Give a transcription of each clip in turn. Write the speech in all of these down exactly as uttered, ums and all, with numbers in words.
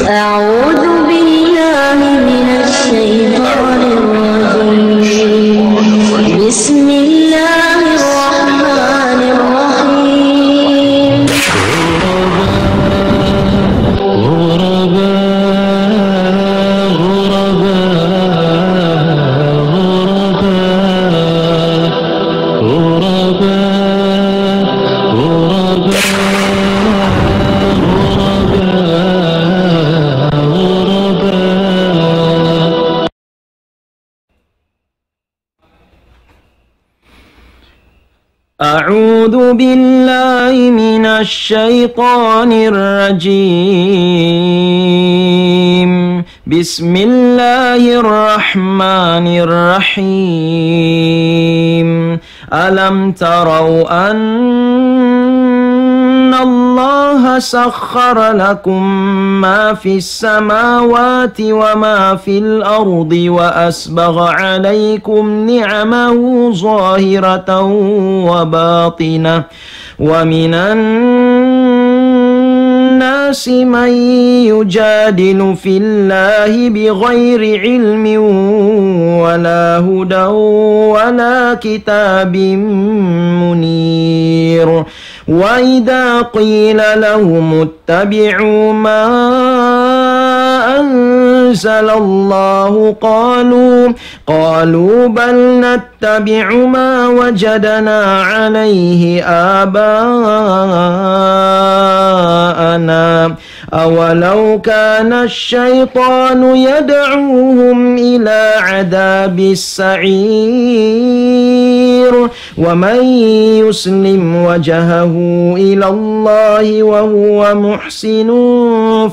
أعوذ بالله من الشيطان الرجيم. بسم الله الرحمن الرحيم. أعوذ بالله من الشيطان الرجيم. بسم الله الرحمن الرحيم. ألم تروا أن الله سخر لكم ما في السماوات وما في الأرض وأسبغ عليكم نعمه ظاهرة وباطنة، ومن الناس من يجادل في الله بغير علم ولا هدى ولا كتاب منير. وإذا قيل لهم اتبعوا ما أنزل الله قالوا، قالوا بل نتبع ما وجدنا عليه آباءنا أولو كان الشيطان يدعوهم إلى عذاب السعير. ومن يسلم وجهه إلى الله وهو محسن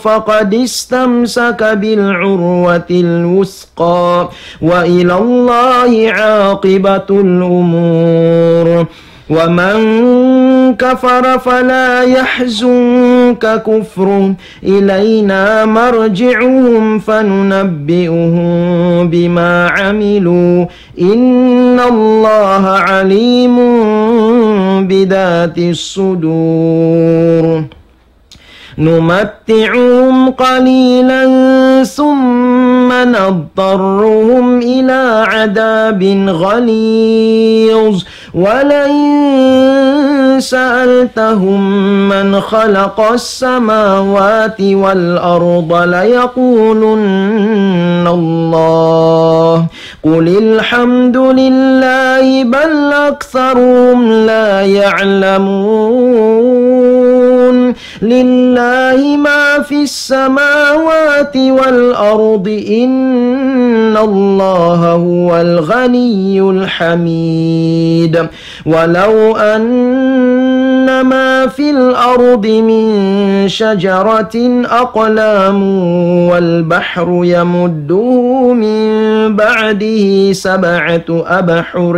فقد استمسك بالعروة الوثقى وإلى الله عاقبة الأمور. ومن كفر فلا يحزنك كفره إلينا مرجعهم فننبئهم بما عملوا إن الله عليم بذات الصدور. نمتعهم قليلا ثم نضطرهم إلى عذاب غليظ. ولئن سألتهم من خلق السماوات والأرض ليقولن الله. قل الحمد لله بل أكثرهم لا يعلمون. لله ما في السماوات والأرض إن الله هو الغني الحميد. ولو أن ما في الأرض من شجرة أقلام والبحر يمده من بعده سبعة أبحر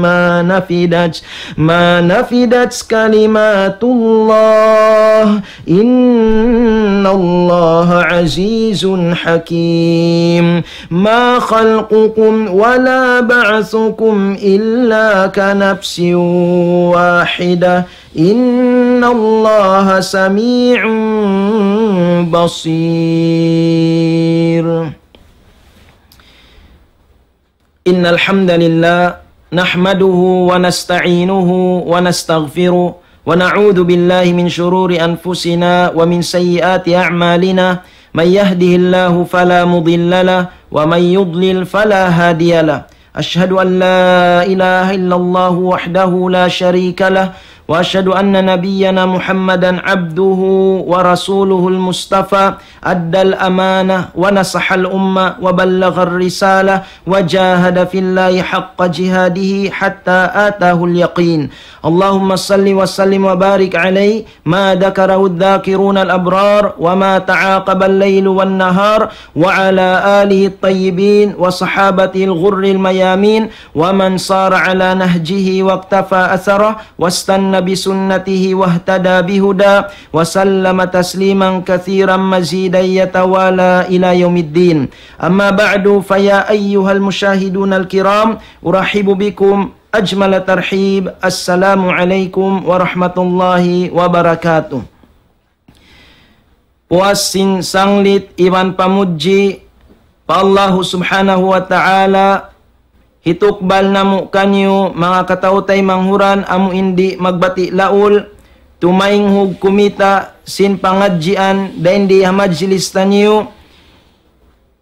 ما نفدت، ما نفدت كلمات الله إن الله عزيز حكيم. ما خلقكم ولا بعثكم إلا كنفس واحدة إن الله سميع بصير. إن الحمد لله نحمده ونستعينه ونستغفره ونعوذ بالله من شرور أنفسنا ومن سيئات أعمالنا. من يهده الله فلا مضل له ومن يضلل فلا هادي له. أشهد أن لا إله إلا الله وحده لا شريك له وأشهد أن نبينا محمدا عبده ورسوله المصطفى أدى الأمانة ونصح الأمة وبلغ الرسالة وجاهد في الله حق جهاده حتى آتاه اليقين. اللهم صل وسلم وبارك عليه ما ذكره الذاكرون الأبرار وما تعاقب الليل والنهار وعلى آله الطيبين وصحابته الغر الميامين ومن صار على نهجه واقتفى أثره واستن بسنته واهتدى بهداه وسلم تسليما كثيرا مزيدا يتوالى إلى يوم الدين. أما بعد، فيا أيها المشاهدون الكرام، أرحب بكم أجمل ترحيب. السلام عليكم ورحمة الله وبركاته. Puas sin sanglit iban pamudji pa Allahu Subhanahu wa Ta'ala, hitukbal namu' kaniyu manga kataw-taymanghu amu in di' magbati' laul, tumaynghug kumita' sin pangadjian dayn di ha majlis taniyu,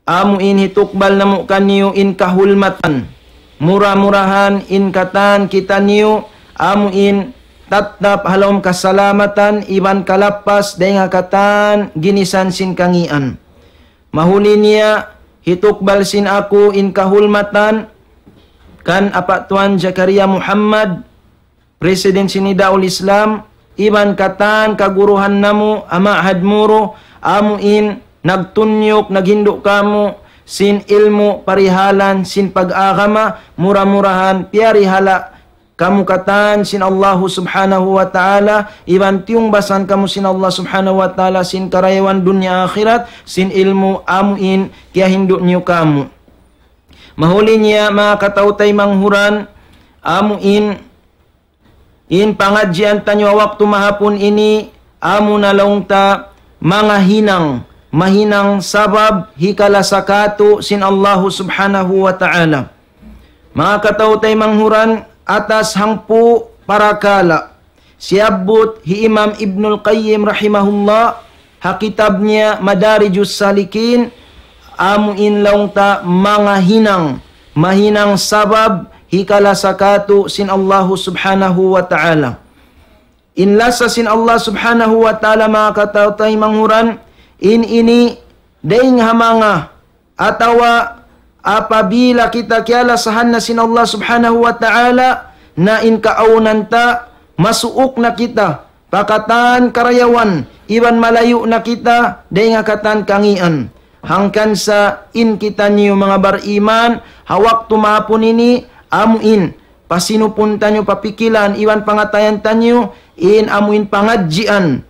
amu in hitukbal namu' kaniyu in kahulmatan. Mura-murahan in katan kitaniyu, amu in tattap ha lawm kasalamatan iban kalappas dayn ha katan ginisan sin kangīan. Mahuli niya, hitukbal sin aku in kahulmatan kan Apa' Tuan Zakaria Muhammad, President sin Nidaul Islam, iban katan kaguruhan namu' ha Ma'had Moro, amu in nagtunyuk, naghindu' kāmu' sin ilmu' parihalan sin pag-agama, mura-murahan piyarihala' kamu katan sin Allahu Subhanahu wa Ta'ala, iban tiyungbasan kamu sin Allah Subhanahu wa Ta'ala sin karayawan dunya akhirat, sin ilmu' amu in kiyahindu' niyu kāmu'. Mahuli niya, manga kataw-taymanghu, amu in, in pangadjian taniyu ha waktu mahapun ini, amu na laung ta manga hinang, mahinang sabab hikalasa kātu' sin Allahu Subhanahu wa Ta'ala. Manga kataw-taymanghu, atas hangpu' parakala' siyabbut hi Imam Ibnul Qayyim rahimahullah ha kitab niya Madarijus Salikin, amu in laung ta manga hinang, mahinang sabab hikalasa kātu' sin Allahu Subhanahu wa Ta'ala. In lasa sin Allah Subhanahu wa Ta'ala, manga kataw-taymanghu, in ini dayn ha manga atawa apabila kita kiyalasahan na sin Allah Subhanahu wa Ta'ala, na in kaawnan ta, masuuk na kita pa katan karayawan, iban malayu' na kita dayn ha katan kangīan. Hangkan sa in kitaniyu manga bariman, ha waktu mahapun ini, amu in pasinupun taniyu, papikilan iban pangatayan taniyu, in amu in pangadjian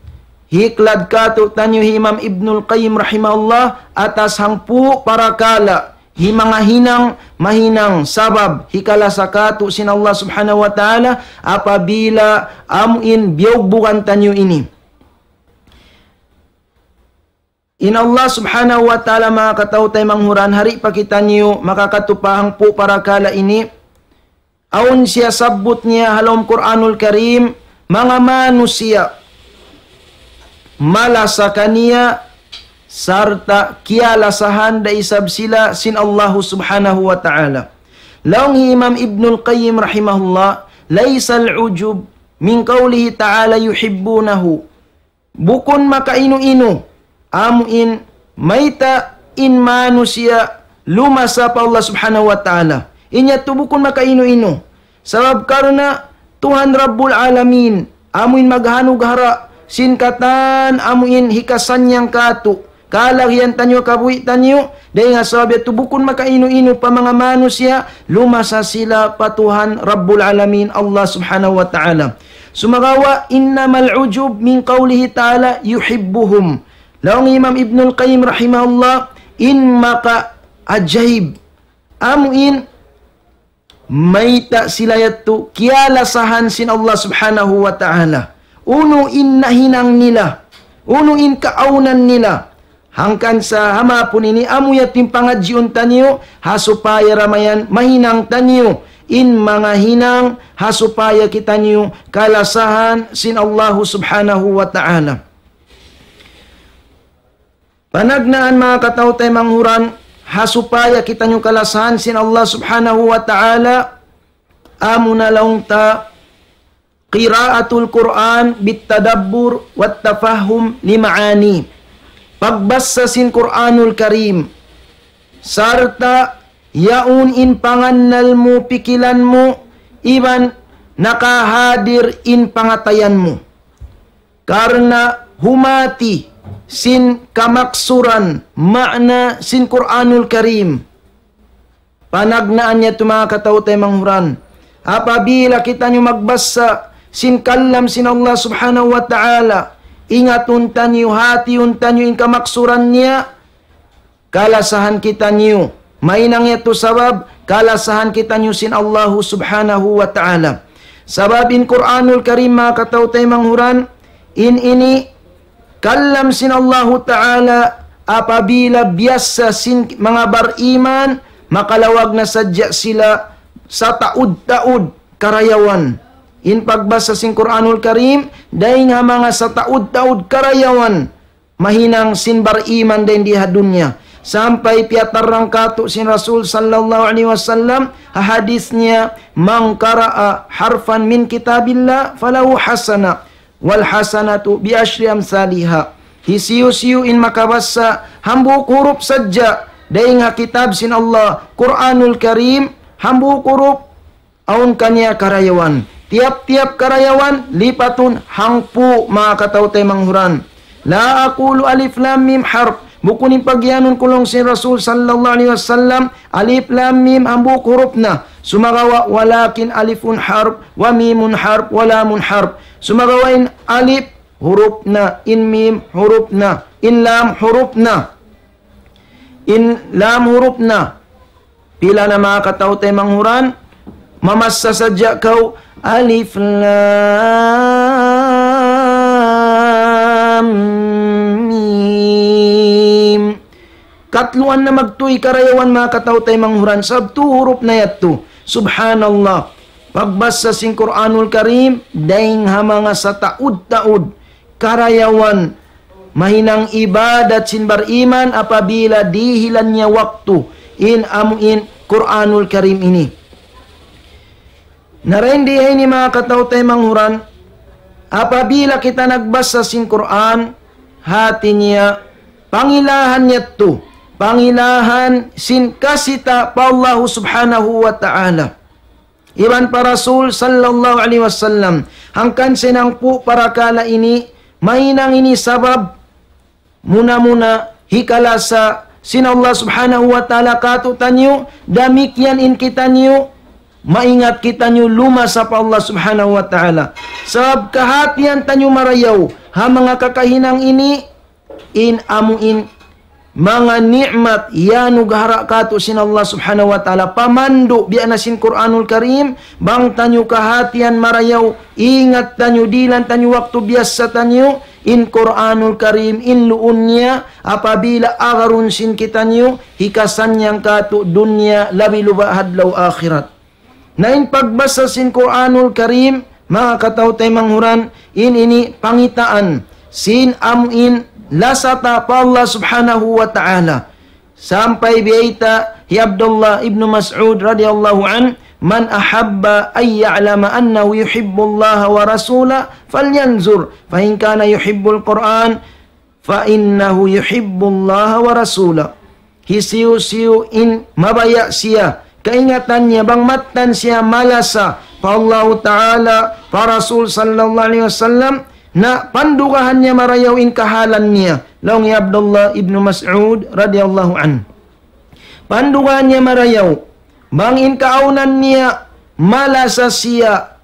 hiklad kātu'niyu hi Imam Ibnul Qayyim rahimahullah, atas hangpu' parakala' hi manga hinang, mahinang sabab hikalasa kātu' sin Allah Subhanahu wa Ta'ala, apabila amu in biyugbugan taniyu ini. In Allah Subhanahu wa Ta'ala, manga kataw-taymanghu, ha di' pa kitaniyu makakatu pa hangpu' parakala' ini, awn siya sabbut niya ha lawm Qur'anul Karim, manga manusiya' malasa kaniya sarta' kiyalasahan da isab sila sin Allahu Subhanahu wa Ta'ala. Laung hi Imam Ibnul Qayyim rahimahullah, ليس العجب من قوله تعالى يحبونه. Bukun makainu-inu amu in mayta' in manusiya' lumasa pa Allah Subhanahu wa Ta'ala. In yadtu bukun makainu-inu. Sabab karna' Tuhan Rabbul Alamin, amu in maghanughara' sin katan amu in hikasannyang kātu', kalagihan taniyu, kabuhi' taniyu, dayn ha sabab yadtu bukun makainu-inu pa manga manusiya' lumasa sila pa Tuhan Rabbul Alamin, Allah Subhanahu wa Ta'ala. Sumagawa', إنما العجب من قوله تعالى يحبهم. Laung Imam Ibnul Qayyim rahimahullah, in makaajaib, amu in mayta' sila yadtu kiyalasahan sin Allah Subhanahu wa Ta'ala. Unu in nahinang nila, unu in kaawnan nila. Hangkan sa ha mahapun ini amu yadtu in pangadjiun taniyu, ha supaya da mayan mahinang taniyu in manga hinang, ha supaya kitaniyu kalasahan sin Allahu Subhanahu wa Ta'ala. Panagnaan, manga kataw-taymanghu, ha supaya kitaniyu kalasahan sin Allah Subhanahu wa Ta'ala, amu na laung ta قراءة القرآن بالتدبر والتفهم لمعانيه. Pagbasa sin Qur'anul Karim, sarta' yaun in pangannal mu, pikilan mu, iban nakahadir in pangatayan mu. Karna' humati sin kamaksuran, ma'na sin Qur'anul Karim. Panagnaan yadtu, manga kataw-taymanghu. Apabila kitaniyu magbasa sin kalam sin Allah Subhanahu wa Ta'ala, ingatun taniyu, hatiun taniyu in kamaksuran niya, kalasahan kitaniyu. Mahinang yadtu sabab kalasahan kitaniyu sin Allahu Subhanahu wa Ta'ala. Sabab in Qur'anul Karim, manga kataw-taymanghu, in ini kalam sin Allahu Ta'ala, apabila biyasa sin manga bariman, makalawag na sadja sila sataud-taud karayawan. In pagbasa sin Qur'anul Karim, dayn ha manga sataud-taud karayawan, mahinang sin bariman dayn di ha dunya. Sampay piyatarrang katu' sin Rasul sallallahu alayhi wasallam, ha hadith niya, من قرأ حرفا من كتاب الله فله حسنة والحسنة بعشر أمثالها. Hisiyu-siyu in makabasa hambuuk hurup sadja dayn ha kitab sin Allah, Qur'anul Karim, hambuuk hurup, awn kaniya karayawan. Tiyap-tiyap karayawan, lipatun hangpu', manga kataw-taymanghuran. لا أقول ألف لام ميم حرف. Bukun in pagiyanun ku laung sin Rasul sallallahu alayhi wasallam, alif lam mim hambuuk hurup na. Sumagawa', ولكن ألف حرف وميم حرف ولام حرف. Sumagawa' in alif hurup na, in mim hurup na, in lam hurup na. In lam hurup na. Pila na, manga kataw-taymanghuran? Mamassa sadja kaw, alif lam mim. Katluan na magtuy karayawan, manga kataw-taymanghuran, sabab tu hurup na yadtu. Subhanallah. Pagbasa sin Qur'anul Karim, dayn ha manga sataud-taud karayawan, mahinang ibadat sin bariman apabila dihilan niya waktu in amu in Qur'anul Karim ini. Na dayn di ha ini, manga kataw-taymanghuran, apabila kita nagbasa sin Qur'an, hati niya, pangilahan niya tu, pangilahan sin kasita pa Allahu Subhanahu wa Ta'ala iban pa Rasul sallallahu alayhi wasallam. Hangkan sin hangpu' parakala' ini, mahinang ini sabab muna-muna hikalasa sin Allah Subhanahu wa Ta'ala kātu'niyu, damikkiyan in kitaniyu, maingat kitaniyu lumasa pa Allah Subhanahu wa Ta'ala. Sabab kahātihan taniyu marayaw ha manga kakahinang ini, in amu in manga ni'mat iyanugahara' kātu' sin Allah Subhanahu wa Ta'ala, pamandu' biya' na sin Qur'anul Karim, bang taniyu kahātihan marayaw, ingat taniyu, dihilan taniyu waktu biyasa taniyu, in Qur'anul Karim, in luun niya, apabila agarun sin kitaniyu, hikasannyang kātu' dunya, labi-luba' ha adlaw akhirat. Na in pagbasa sin Qur'anul Karim, manga kataw-taymanghuran, in ini pangitaan sin amu in lasa ta pa Allah Subhanahu wa Ta'ala. Sampay biyayta' hi Abdullah ibn Mas'ud radiyallahu anhu, من أحب أن يعلم أنه يحب الله ورسوله فلينظر، فإن كان يحب القرآن فإنه يحب الله ورسوله. Hisiyu-siyu in mabaya' siya, kaingatan niya bang mattan siya malasa pa Allahu Ta'ala, pa Rasul sallallahu alayhi wasallam, na pandugahan niya marayaw in kahalan niya. Laung hi Abdullah ibn Mas'ud radiyallahu anhu. Pandugahan niya marayaw, bang in kaawnan niya malasa siya,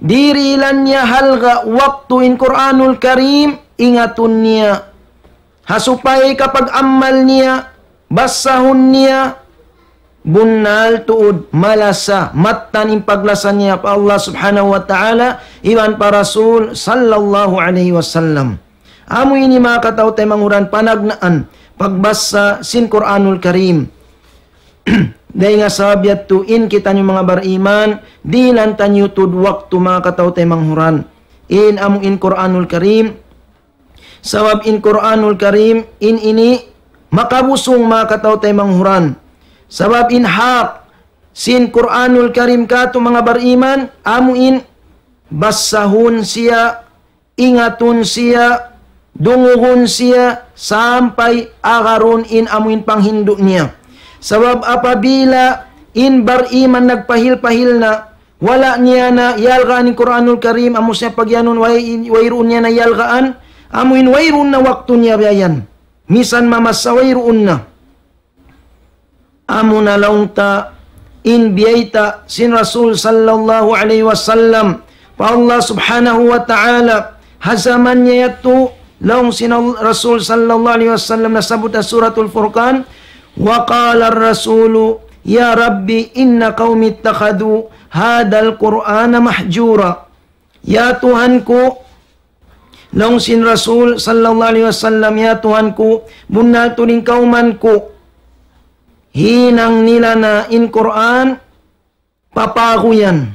dihilan niya halga' waktu in Qur'anul Karim, ingatun niya. Ha supaya kapag-amal niya, basahun niya, bunnal tuud malasa, mattan in paglasa niya pa Allah Subhanahu wa Ta'ala, iban pa Rasul sallallahu alayhi wasallam. Amu ini, manga kataw-taymanghuran, panagnaan pagbasa sin Qur'anul Karim. Dayn ha sabab yadtu in kitaniyu manga bariman, dihilan taniyu tuud waktu, manga kataw-taymanghuran, in amu in Qur'anul Karim. Sabab in Qur'anul Karim in ini makabusung, manga kataw-taymanghuran. Sabab in hak sin Qur'anul Karim kātu' manga bariman, amu in basahun siya, ingatun siya, dungugun siya, sampay agarun in amu in panghindu' niya. Sabab apabila in bariman nagpahil-pahil na, wala' niya na iyalgaan in Qur'anul Karim, amu siya pagiyanun way-, wayruun niya na iyalgaan, amu in wayruun na waktu niya biya' yan. Misan mamassa wayruun na. Amu na laung ta in biyayta' sin Rasul sallallahu alayhi wasallam pa Allah Subhanahu wa Ta'ala, ha jaman niya yadtu, laung sin Al-, Rasul sallallahu alayhi wasallam, nasabbut ha Suratul Furqan, وقال الرسول يا رب إن قومي اتخذوا هذا القرآن مهجورا. Ya Tuhan ku, Laung sin Rasul sallallahu alayhi wasallam, "Ya Tuhan ku, bunnal tuud in kawman ku, hinang nila na in Qur'an papaguyan.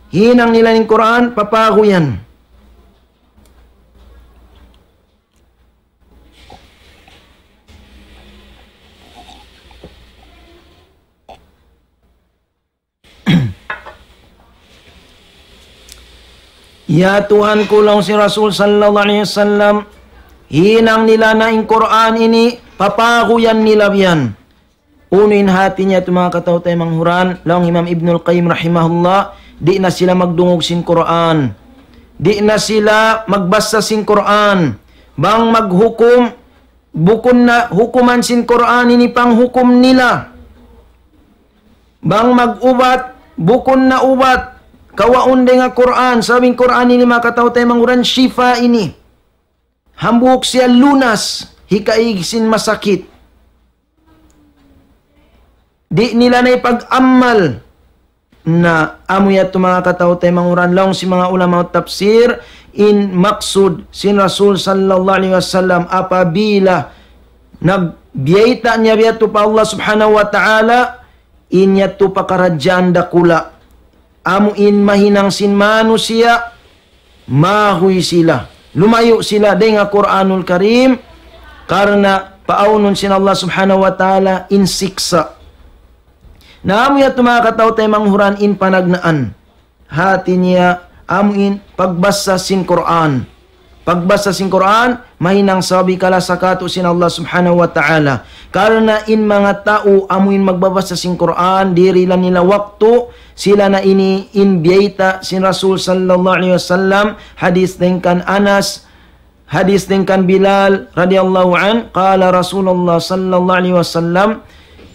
Hinang nila in Qur'an papaguyan." "Ya Tuhan ku," laung sin Rasul sallallahu alayhi wasallam, "hinang nila na in Qur'an ini, papaguyan nila biyan." Unu in hati niya tu, manga kataw-taymanghuran? Laung Imam Ibnul Qayyim rahimahullah, di' na sila magdungug sin Qur'an. Di' na sila magbasa sin Qur'an. Bang maghukum, bukun na hukuman sin Qur'an ini panghukum nila. Bang mag-ubat, bukun na ubat kawaun dayn ha Qur'an. Sabab in Qur'an ini, manga kataw-taymanghuran, shifa ini. Hambuuk siya lunas, hikaig sin masakit. Di' nila na ipag-ammal. Na amu yadtu, manga kataw-taymanghuran, laung sin manga ulama tafsir, in maksud sin Rasul sallallahu alayhi wasallam, apabila nagbiyayta' niya biyadtu pa Allah subhanahu wa ta'ala, in yadtu pakaradjaan dakula'. Amu in mahinang sin manusiya', mahuy sila. Lumayu' sila dayn ha Qur'anul Karim, karna' paawnun sin Allah subhanahu wa ta'ala in siksa'. Na amu yadtu, manga kataw-taymanghuran, in panagnaan. Hati niya, amu in pagbasa sin Qur'an. Pagbasa sin Qur'an, mahinang sabab hikala sa katu' sin Allah subhanahu wa ta'ala. Karna' in manga tau amu in magbabasa sin Qur'an, dihil nila waktu, sila na ini in biyayta' sin Rasul sallallahu alayhi wasallam, hadis dayn kan Anas, hadis dayn kan Bilal radiyallahu anhu, qala Rasulullah sallallahu alayhi wasallam,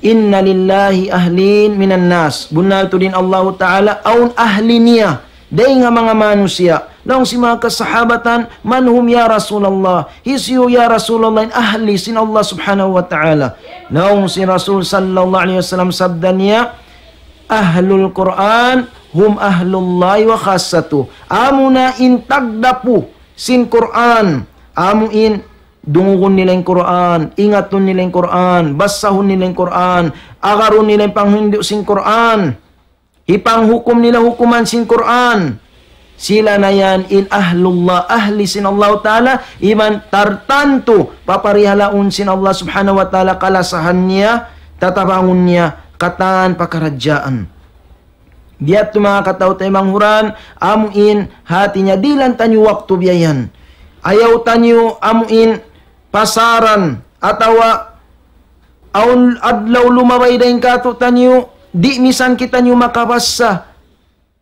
"Inna lillahi ahlin minan nas." Bunnal tuud in Allahu Ta'ala, awn ahli niya dayn ha manga manusiya'. Laung sin manga kasahabatan, "Man hum ya Rasulullah?" Hisiyu ya Rasulullah in ahli sin Allah subhanahu wa ta'ala? Laung sin Rasul sallallahu alayhi wasallam, sabda niya, "Ahlul Qur'an hum ahlullahi wa khassatuh." Amu na in tagdapu sin Qur'an. Amu in dungugun nila in Qur'an, ingatun nila in Qur'an, basahun nila in Qur'an, agarun nila in panghindu' sin Qur'an. Hipanghukum nila hukuman sin Qur'an. Sila na yan in ahlullah, ahli sin Allah Ta'ala, iban tartantu paparihalaun sin Allah Subhanahu wa Ta'ala kalasahan niya, tatabangun niya, katan pakaradjaan. Biya' tu manga kataw-taymanghuran, amu in hati niya dihilan taniyu waktu biya' yan. Ayaw taniyu amu in pasaran atawa awn adlaw lumabay dayn kātu'niyu, di' misan kitaniyu makabassa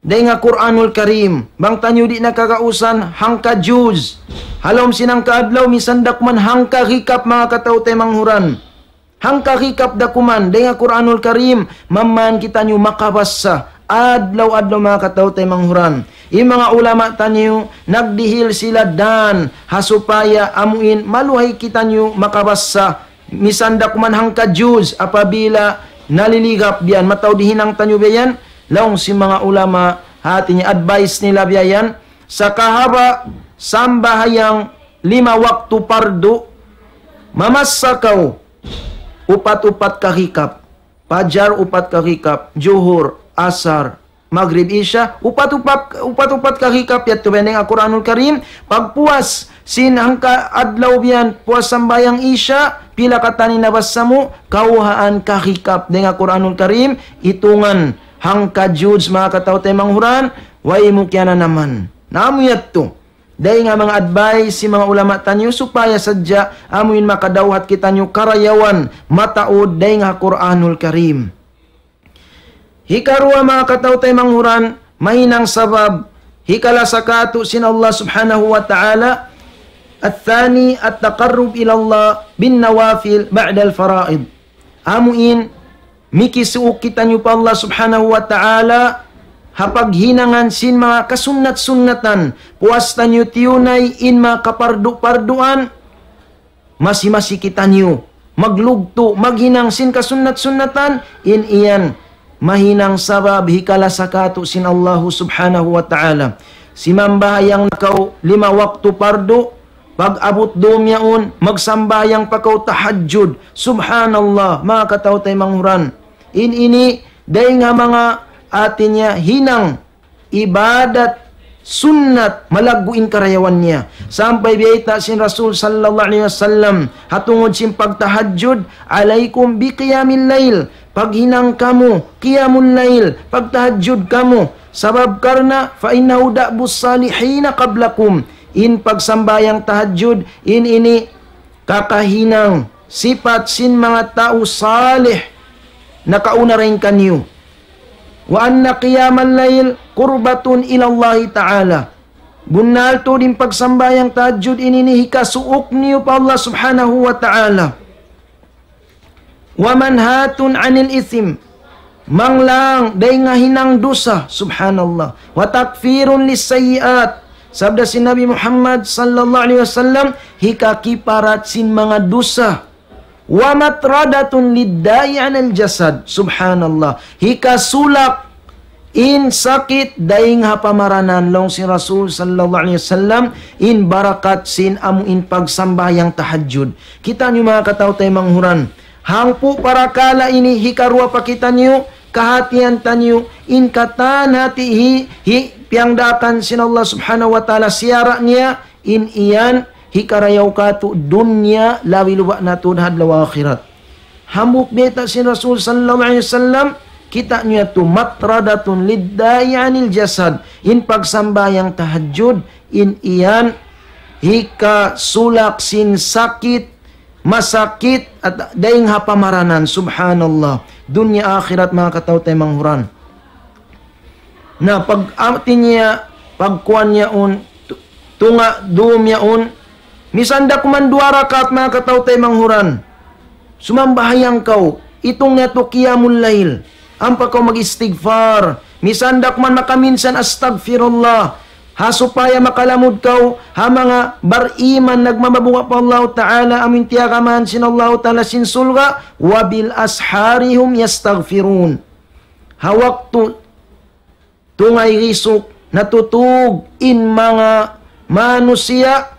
dayn ha Qur'anul Karim. Bang taniyu di' na kagausan hangka juz. Ha lawm sin hangka adlaw, misan da kuman hangka hikap manga kataw-taymanghuran. Hangka hikap da kuman dayn ha Qur'anul Karim, mamman kitaniyu makabassa adlaw-adlaw manga kataw-taymanghuran. In manga ulama taniyu, nagdihil sila dan ha supaya amu in maluhay kitaniyu makabassa, misan da kuman hangka juz, apabila naliligap biya' yan, mataud hinang taniyu biya' yan, laung sin manga ulama, hati niya advice nila biya' yan, sakahaba' sambahayang lima waktu pardu, mamassa kaw upat-upat kahikap. Pajar upat kahikap, Juhur, Asar, Magrib, Isya, upat-upat, upat-upat kahikap yadtu biya' yan dayn ha Qur'anul Karim. Pagpuas sin hangka adlaw biya' yan, puas sambahayang Isya, pila katan in nabassa mu, kawhaan kahikap dayn ha Qur'anul Karim, itungan hangka juz manga kataw-taymanghuran, way mu kiyananaman. Na amu yadtu. Dayn ha manga advice sin manga ulama taniyu supaya sadja amu in makadawhat kitaniyu karayawan mataud dayn ha Qur'anul Karim. Hikaruwa manga kataw-taymanghuran, mahinang sabab hikalasa kātu' sin Allah Subhanahu wa Ta'ala, الثاني التقرب إلى الله بالنوافل بعد الفرائض. Amu in, mikisuuk kitaniyu pa Allah Subhanahu wa Ta'ala, ha paghinangan sin manga kasunnat-sunnatan, puas taniyu tiyunay in manga kapardu-parduan, masi-masi kitaniyu maglugtu', maghinang sin kasunnat-sunnatan, in yan mahinang sabab hikalasa kātu' sin Allahu Subhanahu wa Ta'ala. Simambahayang na kaw lima waktu pardu, pag-abut dum yaun, magsambahayang pa kaw tahajjud. Subhanallah, manga kataw-taymanghuran. In ini, dayn ha manga hati niya hinang ibadat sunnat malaggu' in karayawan niya. Sampay biyayta' sin Rasul sallallahu alayhi wasallam, ha tungud sin pagtahajjud, "Alaykum bi qiyamil layl." Paghinang kamu, qiyamul layl, pagtahajjud kamu. Sabab karna', "Fa innahu da'bus salihina qablakum." In pagsambahayang tahajjud, in ini kakahinang, sipat sin manga tau salih nakauna dayn kaniyu. "Wa anna qiyamal layl qurbatun ilallahi ta'ala." Bunnal tuud in pagsambahayang tahajjud ini, ini hikasuuk niyu pa Allah subhanahu wa ta'ala. "Wa manhatun anil ithim." Manglang dayn ha hinang dusa, subhanallah. "Wa takfirun lis sayyiat." Sabda sin Nabi Muhammad sallallahu alayhi wasallam, hikakiparat sin manga dusa. "Wa matradatun lidda'i anil jasad." Subhanallah. Hikasulak in sakit dayn ha pamaranan, laung sin Rasul sallallahu alayhi wasallam, in barakat sin amu in pagsambahayang tahajjud. Kitaniyu manga kataw-taymanghuran. Hangpu' parakala' ini hikaruwa pa kitaniyu, kahatihan taniyu, in katan hati hi, hi, piyangdaakan sin Allah subhanahu wa ta'ala siyara' niya, in iyan hikarayaw katu' dunya labi luba' na tuud ha adlaw akhirat. Hambuuk biyayta' sin Rasul sallallahu alayhi wasallam, kitaniyu yadtu, "Matradatun lidda'i anil jasad." In pagsambahayang tahajjud, in iyan hikasulak sin sakit, masakit, at dayn ha pamaranan, subhanallah. Dunya akhirat, manga kataw-taymanghuran. Na pag-, hati niya, pagkuwan yaun, tu-, tunga' dum yaun, misan da kuman duwa rakaat, manga kataw-taymanghuran. Sumambahayang kaw, itung niya tu qiyamul layl. Ampa kaw mag-istighfar. Misan da kuman makaminsan astagfirullah. Ha supaya makalamud kaw, ha manga bariman nagmamabunga pa Allah Ta'ala, amu in tiyagamahan sin Allah Ta'ala sin surga', "Wa bil ashari hum yastaghfirun." Ha waktu tungay risuk, natutug in manga manusiya',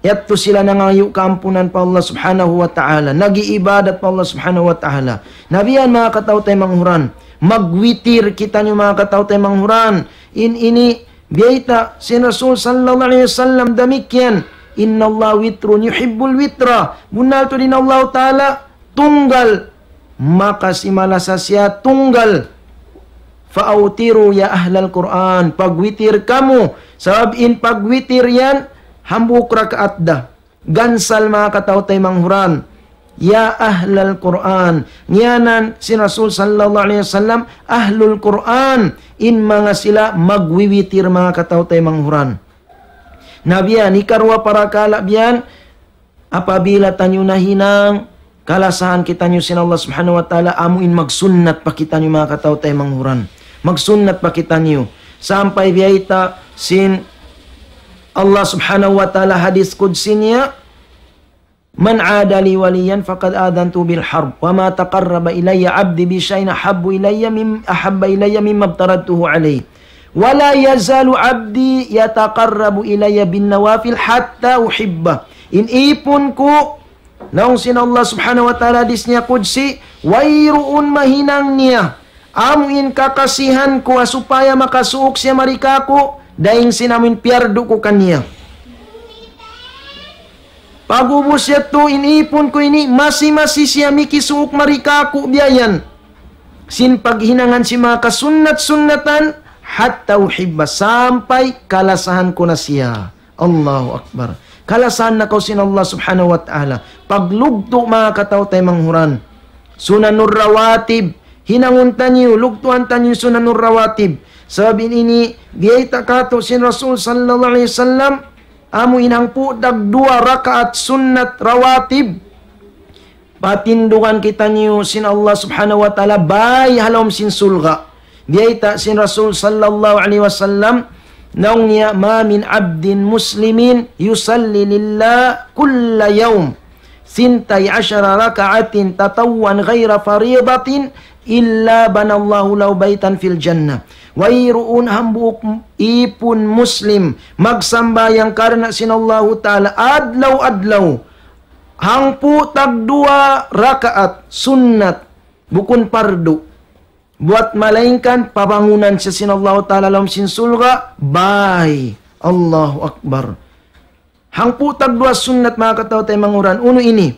yadtu sila nangayu' kaampunan pa Allah subhanahu wa ta'ala, nag-iibadat pa Allah subhanahu wa ta'ala. Na biya' yan manga kataw-taymanghuran, magwitir kitaniyu manga kataw-taymanghuran. In ini, biyayta' sin Rasul sallallahu alayhi wasallam damikkiyan, "Innallaha witrun yuhibbul witra." Bunnal tuud in Allah Ta'ala tunggal, maka simalasa siya tunggal. "Fa awtiru ya ahlal Qur'an." Pagwitir kamu. Sabab in pagwitir yan, hambuuk rakaat da. Gansal manga kataw-taymanghuran. "Ya ahlal Qur'an." Ngiyanan sin Rasul sallallahu alayhi wasallam, ahlul Qur'an. In manga sila magwiwitir manga kataw-taymanghuran. Na biya' yan, hikaruwa parakala' biya' yan, apabila taniyu nahinang, kalasahan kitaniyu sin Allah subhanahu wa ta'ala, amu in magsunnat pa kitaniyu manga kataw-taymanghuran. Magsunnat pa kitaniyu. Sampay biyayta' sin Allah subhanahu wa ta'ala hadith qudsi niya, "Man 'ada li waliyan faqad adhantuhu bil harb, wa ma taqarraba ilayya 'abdi bi shay'in ahabbu ilayya mim-, ahabba ilayya mimma aftaradtuhu alayh. Wa la yazalu 'abdi yataqarrabu ilayya bin nawafil hatta uhibbah." In ipun ku, laung sin Allah subhanahu wa ta'ala hadith niya qudsi, wayruun mahinang niya amu in kakasihan ku ha supaya makasuuk siya mari kāku', dayn sin amu in piyardu ku kaniya. Pag'ubus yadtu in ipun ku ini, masi-masi siya mikisuuk mari kāku' biya' yan. Sin paghinangan sin manga kasunnat-sunnatan, hatta uhibbah, sampay kalasahan ku na siya. Allahu Akbar. Kalasahan na kaw sin Allah subhanahu wa ta'ala. Paglugtu' manga kataw-taymanghuran. Sunanur rawatib. Hinangun taniyu, lugtuan taniyu sunanur rawatib. Sabab in ini, biyayta' katu' sin Rasul sallallahu alayhi wasallam, amu in hangpu' tagduwa rakaat sunnat rawatib. Patindugan kitaniyu sin Allah subhanahu wa ta'ala, bāy ha lawm sin surga'. Biyayta' sin Rasul sallallahu alayhi wasallam, laung niya, "Ma min 'abdin muslimin yusalli lillah kulla yawm, ثنتي عشرة ركعة تطوعا غير فريضة إلا بنى الله له بيتا في الجنة. Wayruun hambuuk ipun Muslim magsambahayang karna' sin Allahu Ta'ala adlaw-adlaw hangpu' tagduwa rakaat sunnat, bukun pardu, buwat malaingkan pabangunan siya sin Allahu Ta'ala ha lawm sin surga' bay. Allahu Akbar. Hangpu' tagduwa sunnat, manga kataw-taymanghuran. Unu ini?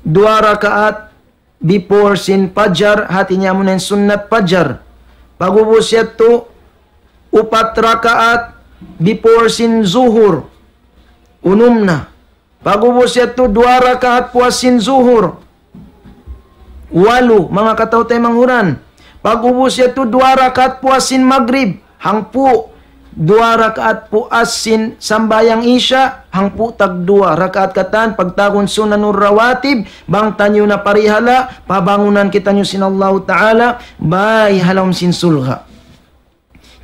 Duwa rakaat before sin fajar, hati niya amuna in sunnat fajar. Pag'ubus yadtu, upat rakaat before sin zuhur. Unum na. Pag'ubus yadtu, duwa rakaat puas sin zuhur. Walu, manga kataw-taymanghuran. Pag'ubus yadtu, duwa rakaat puas sin magrib. Hangpu', duwa rakaat puas sin sambahayang isya. Hangpu' tagduwa rakaat katan, pagtawagun sunanur rawatib, bang taniyu na parihala', pabangunan kitaniyu sin Allahu Ta'ala bay ha lawm sin surga'.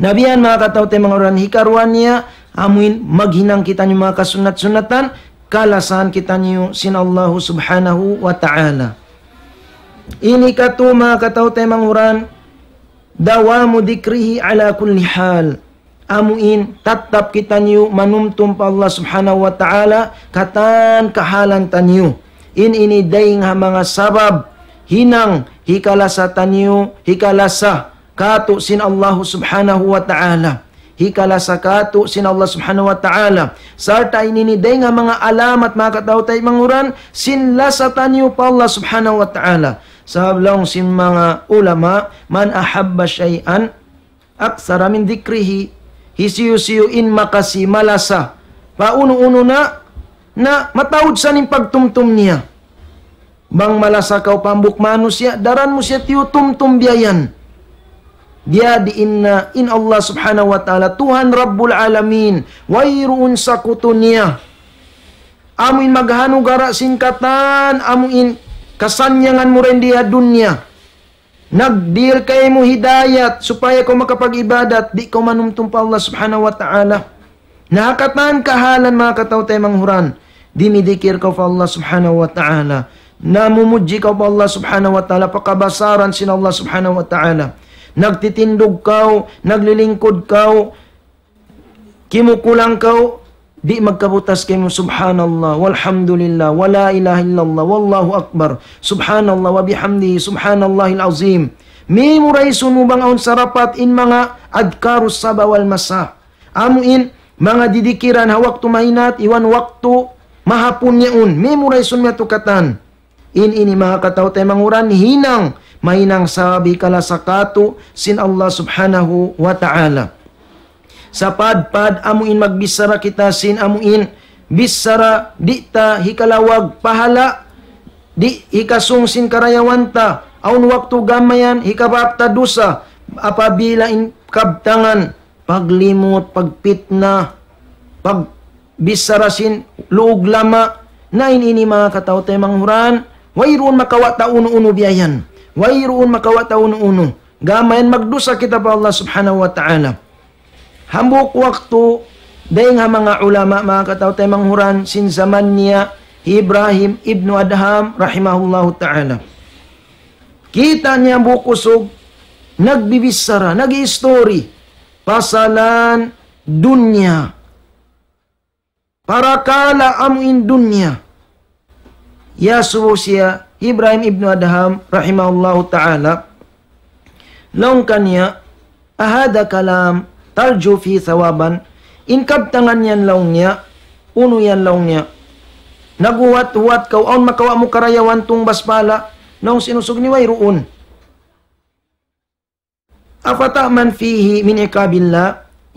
Na biya' yan, manga kataw-taymanghuran, hikaruwa niya, amuin maghinang kitaniyu manga kasunnat-sunnatan, kalasahan kitaniyu sin Allahu Subhanahu wa Ta'ala. Ini katu', manga kataw-taymanghuran, دوام ذكره على كل حال. Amuin tattap kitaniyu manumtum pa Allah Subhanahu wa Ta'ala katan kahalan taniyu. In ini dayng ha manga sabab hinang hikalasa taniyu, hikalasa katu' sin Allahu Subhanahu wa Ta'ala. Hikalasa katu' sin Allah Subhanahu wa Ta'ala. Sarta' in ini dayng ha manga alamat, manga kataw-taymanghuran, sin lasa taniyu pa Allah Subhanahu wa Ta'ala. Sabab laung sin manga ulama, من أحب شيئا أكثر من ذكره. Hisiyu-siyu in makasi malasa pa unu-unu na, na mataud sa in pagtumtum niya. Bang malasa kaw pa hambuuk manusiya', daran mu siya tiyutumtum biya' yan. Biya' diin na in Allah Subhanahu wa Ta'ala, Tuhan Rabbul Alamin, wayruun sakutu niya. Amuin maghanugara' sin katan amuin kasannyangan mu dayn di ha dunya. Nagdihil kaymu hidayat supaya kaw makapag-ibadat, di' kaw manumtum pa Allah Subhanahu wa Ta'ala. Na ha katan kahalan, manga kataw-taymanghuran, dimidikir kaw pa Allah Subhanahu wa Ta'ala. Namumudji kaw pa Allah Subhanahu wa Ta'ala, pa kabasaran sin Allah Subhanahu wa Ta'ala. Nagtitindug kaw, naglilingkud kaw, kimukulang kaw, di' magkabutas kaymu, سبحان الله والحمد لله ولا إله إلا الله والله أكبر، سبحان الله وبحمده، سبحان الله العظيم. Memorize mu bang awn sarapat in manga adhkarus sabah wal masa. Amuin manga didikiran ha waktu mahinat iban waktu mahapun yaun. Memorize mu yadtu katan. In ini, manga kataw-taymanghuran, hinang, mahinang sabab hikalasa katu' sin Allah Subhanahu wa Ta'ala. Sapadpad amuin magbichara kita sin amuin bichara di' ta hikalawag pahala', di' hikasung sin karayawan ta, awn waktu gamayan hikabak ta dusa, apabila in kabtangan paglimut, pagpitna, pagbichara sin luug lama, na in ini, manga kataw-taymanghuran, wayruun makawa' ta unu-unu biya' yan. Wayruun makawa' ta unu-unu. Gamayan magdusa kita pa Allah Subhanahu wa Ta'ala. Hambuuk waktu, dayng ha manga ulama, manga kataw-taymanghuran, sin jaman niya hi Ibrahim ibnu Adham rahimahullahu ta'ala. Kita' niya hambuuk usug nagbibichara, nag-i-story pasalan dunya. Parakala' amuin dunya. Iyasubu siya Ibrahim ibnu Adham rahimahullahu ta'ala. Laung kaniya, أهذا كلام ترجو فيه ثوابا؟ In kabtangan yan, laung niya, unu yan, laung niya. Naghuwat-huwat kaw, awn makawa' mu karayawan tungbas pahala'? Laung sin usug ini, wayruun. أفتأمن فيه من عقاب الله؟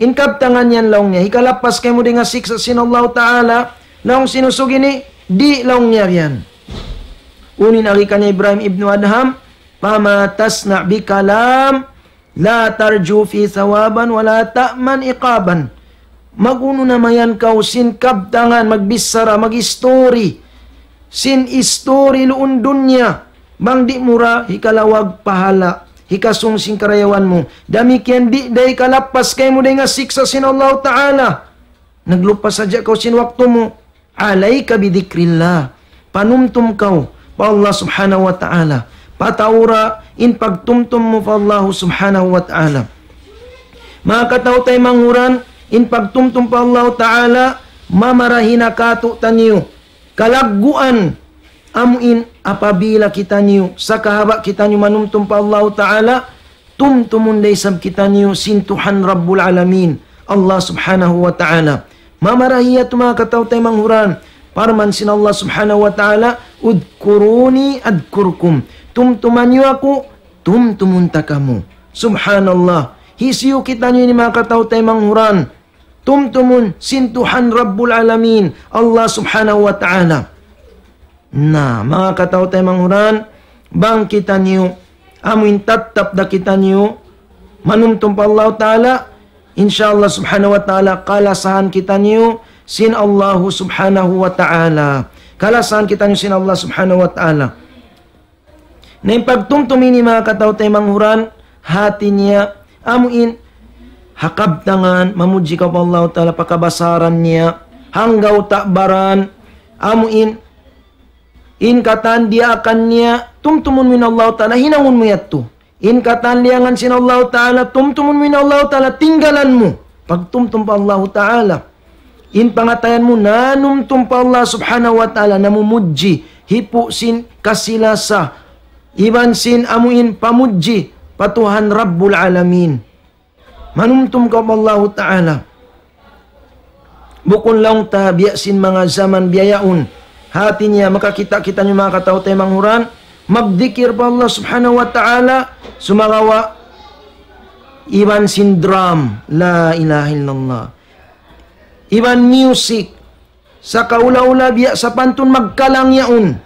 In kabtangan yan, laung niya, hikalappas kaymu dayn ha siksa' sin Allahu Ta'ala? Laung sin usug ini, di', laung niya yan. Unu in agi kan Ibrahim ibnu Adham, فما تصنع بكلام لا ترجو فيه ثوابا ولا تأمن عقابا. Mag-unu na mayan kaw sin kabtangan, magbichara, mag-story sin story luun dunya, bang di' mu da hikalawag pahala', hikasung sin karayawan mu. Damikkiyan di' da hikalappas kaymu dayn ha siksa' sin Allahu Ta'ala. Naglupa sadja kaw sin waktu mu. عليك بذكر الله. panumtum kaw pa Allah Subhanahu wa Ta'ala. Pataura in pagtumtum mu pa Allah Subhanahu wa Ta'ala. Manga kataw-taymanghuran, in pagtumtum pa Allah Ta'ala, mamarahi na kātu'niyu kalagguan, amu in apabila kitaniyu, sakahaba' kitaniyu manumtum pa Allah Ta'ala, tumtumun da isab kitaniyu sin Tuhan Rabbul Alamin, Allah Subhanahu wa Ta'ala. Mamarahi yadtu manga kataw-taymanghuran, parman sin Allah Subhanahu wa Ta'ala, "Udkuruni adkurkum." Tumtuma niyu aku, tumtumun ta kamu. Subhanallah. Hisiyu kitaniyu ini manga kataw-taymanghuran? Tumtumun sin Tuhan Rabbul Alamin, Allah Subhanahu wa Ta'ala. Na, manga kataw-taymanghuran, bang kitaniyu, amu in tattap da kitaniyu, manumtum pa Allah Ta'ala, insya Allah Subhanahu wa Ta'ala, kalasahan kitaniyu, sin Allah Subhanahu wa Ta'ala. Kalasahan kitaniyu sin Allah Subhanahu wa Ta'ala. Na in pagtumtum ini manga kataw-taymanghuran, hati niya, amu in, ha kabtangan, mamudji kaw pa Allah Ta'ala, pa kabasaran niya, hanggaw ta' baran, amu in, in katan diyaakan niya, tumtumun mu in Allah Ta'ala, hinangun mu yadtu. In katan liyangan sin Allah Ta'ala, tumtumun mu in Allah Ta'ala, tinggalan mu. Pagtumtum pa Allah Ta'ala. In pangatayan mu, nanumtum pa Allah Subhanahu wa Ta'ala, namumudji, hipu' sin kasi-lasa, iban sin amu in pamudji, pa Tuhan Rabbul Alamin. Manumtum kaw pa Allah Ta'ala. Bukun laung ta biya' sin manga jaman biyaun. Hati niya, makakita' kitaniyu manga kataw-taymanghuran, magdikir pa Allah Subhanahu wa Ta'ala, sumagawa', iban sin drum, la ilaha illallah. Iban music, sakaula-ula biya' sapantun magkalang yaun.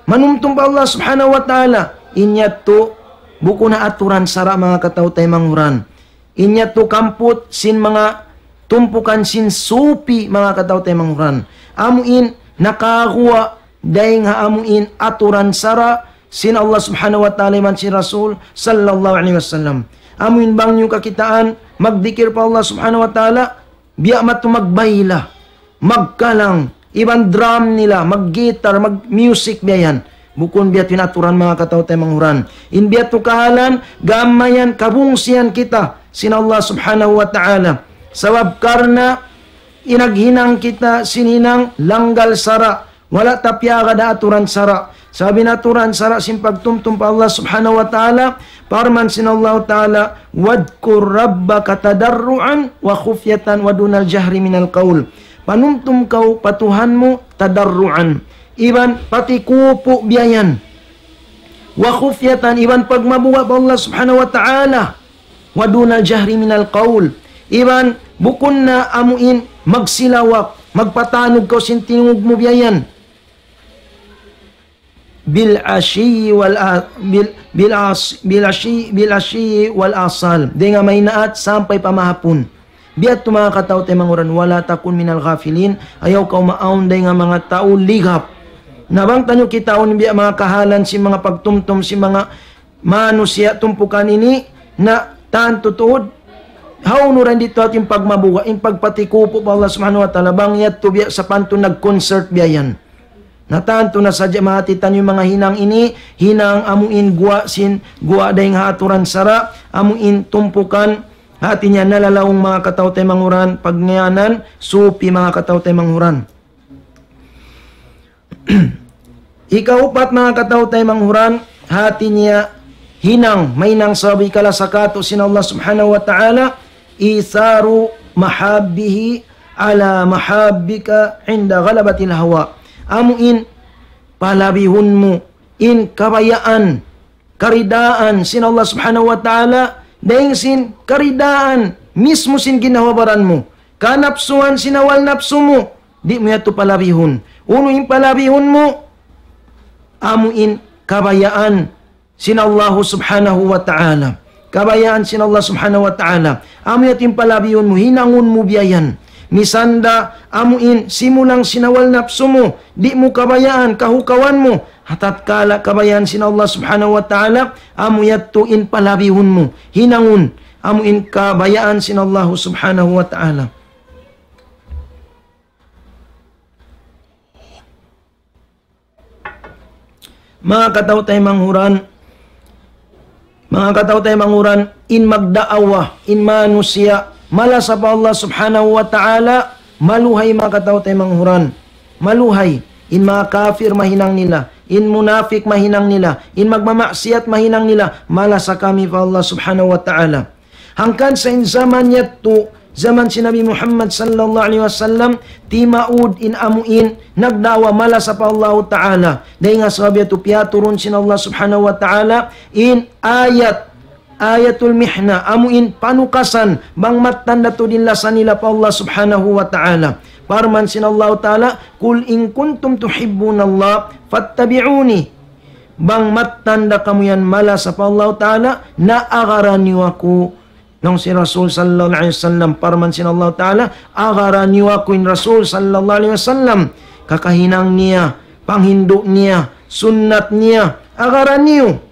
Manumtum pa Allah Subhanahu wa Ta'ala. In yadtu, bukun ha aturan sara' manga kataw-taymanghuran. In yadtu kamput sin manga tumpukan sin supi manga kataw-taymanghuran. Amu in nakaguwa' dayn ha amu in aturan sara' sin Allah Subhanahu wa Ta'ala iban sin Rasul sallallahu alayhi wasallam. Amu in bang niyu kakitaan, magdikir pa Allah Subhanahu wa Ta'ala, biya' matu magbayla, magkalang, iban drum nila, mag-guitar, mag-music biya' yan. Bukun biya' yadtu in aturan manga kataw-taymanghuran. In biya' yadtu kahalan, gam mayan kabungsihan kita sin Allah Subhanahu wa Ta'ala. Sabab karna' in naghinang kita sin hinang langgal sara', wala' ta piyaagad ha aturan sara'. Sabab in aturan sara' sin pagtumtum pa Allah Subhanahu wa Ta'ala, parman sin Allah Ta'ala, "Wadkur rabbaka tadarru'an wa khufyatan wa dunal jahri minal qawl." Panumtum kaw pa Tuhan mu tadarru'an. Iban patikupu' biya' yan. Wa khufyatan, iban pagmabuga' pa Allah Subhanahu wa Ta'ala. Wa dunal jahri minal qawl. Iban bukun na amu in magsilawak, magpatanug kaw sin tingug mu biya' yan. Bil ashiyi wal a-, bil, bil as-, bil ashiyi, bil ashiyi wal asal. Dayn ha maynaat sampay pa mahapun. Biya' yadtu manga kataw-taymanghuran, wala takun minal ghafilin, ayaw kaw maawn dayn ha manga tau ligap. Na bang taniyu kitaun biya' manga kahalan sin manga pagtumtum sin manga manusiya' tumpukan ini, na tantu tuud, hawnu ra in didtu hati in pagmabuga', in pagpatikupu' pa Allah Subhanahu wa Ta'ala, bang yadtu biya' sapantun nag-concert biya' yan. Na tantu na sadja mahati taniyu manga hinang ini, hinang amu in guwa' sin, guwa' dayn ha aturan sara', amu in tumpukan, hati niya nalalaung manga kataw-taymanghuran, pagngiyanan, supi manga kataw-taymanghuran. Ikaupat manga kataw-taymanghuran, hati niya hinang, mahinang sabab ikalasa kātu' sin Allah Subhanahu wa Ta'ala, "Itharu mahabbihi ala mahabbika inda ghalabatil hawa." Amu in palabihun mu in kabayaan, karidaan sin Allah Subhanahu wa Ta'ala, dayn sin karidaan mismu sin ginhawa-baran mu. Kanapsuan sin awal napsu mu, di' mu yadtu palabihun. Unu in palabihun mu, amu in kabayaan sin Allah Subhanahu wa Ta'ala. Kabayaan sin Allah Subhanahu wa Ta'ala. Amu yadtu in palabihun mu, hinangun mu biya' yan. Misan da amu in simulang sin awal napsu mu, di' mu kabayaan, kahukawan mu, ha tatkala kabayaan sin Allah Subhanahu wa Ta'ala, amu yadtu in palabihun mu, hinangun, amu in kabayaan sin Allah Subhanahu wa Ta'ala. Manga kataw-taymanghuran, manga kataw-taymanghuran, in magdaawa, in manusiya', malasa pa Allah Subhanahu wa Ta'ala, maluhay manga kataw-taymanghuran. Maluhay, in manga kafir mahinang nila, in munafik mahinang nila, in magmamaksiyat mahinang nila, malasa kami pa Allah Subhanahu wa Ta'ala. Hangkan sa in jaman yadtu, jaman sin Nabi Muhammad sallallahu alayhi wasallam, timaud in amu in nagdaawa malasa pa Allahu Ta'ala. Dayn ha sabab yadtu piyaturun sin Allah Subhanahu wa Ta'ala in ayat, ayatul mihna, amu in panukasan, bang mattan da tuud in lasa nila pa Allah Subhanahu wa Ta'ala. Parman sin Allahu Ta'ala, قل إن كنتم تحبون الله فاتبعوني. Bang mattan da kamu yan malasa pa Allahu Ta'ala, na agaran niyu aku. Laung sin Rasul sallallahu alayhi wasallam, parman sin Allahu Ta'ala, agaran niyu aku in Rasul sallallahu alayhi wasallam. Kakahinang niya, panghindu' niya, sunnat niya, agaran niyu.